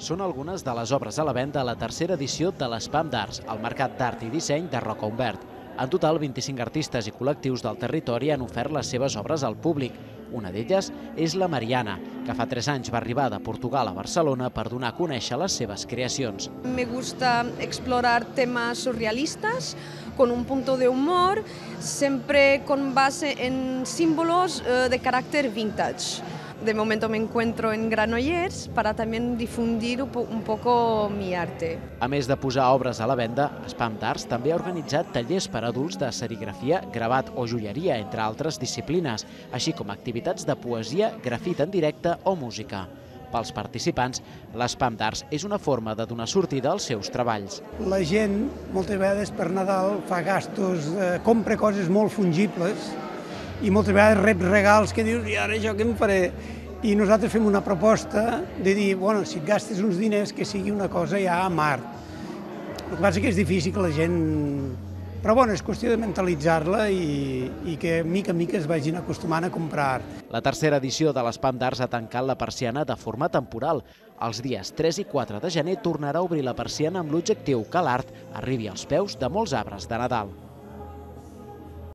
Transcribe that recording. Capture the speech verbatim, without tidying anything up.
Són algunes de les obres a la venda a la tercera edició de l'Espam d'Arts, el Mercat d'Art i Disseny de Roca Humbert. En total, vint-i-cinc artistes i col·lectius del territori han ofert les seves obres al públic. Una d'elles és la Mariana, que fa tres anys va arribar de Portugal a Barcelona per donar a conèixer les seves creacions. Me gusta explorar temas surrealistas con un punto de humor, siempre con base en símbolos de carácter vintage. De momento me encuentro en Granollers para también difundir un poco mi arte. A més de posar obres a la venda, Espam d'Arts també ha organitzat tallers per a adults de serigrafia, gravat o joieria, entre altres disciplines, així com activitats de poesia, grafit en directe o música. Pels participants, l'Espam d'Arts és una forma de donar sortida als seus treballs. La gent, moltes vegades per Nadal, fa gastos, eh, compra coses molt fungibles i moltes vegades rep regals que dius, i ara això què em faré? I nosaltres fem una proposta de dir, bueno, si et gastes uns diners, que sigui una cosa ja a Mart. El que passa és que és difícil que la gent... Però bueno, és qüestió de mentalitzar-la i, i que mica en mica es vagin acostumant a comprar art. La tercera edició de l'Espam d'Arts ha tancat la persiana de forma temporal. Els dies tres i quatre de gener tornarà a obrir la persiana amb l'objectiu que l'art arribi als peus de molts arbres de Nadal.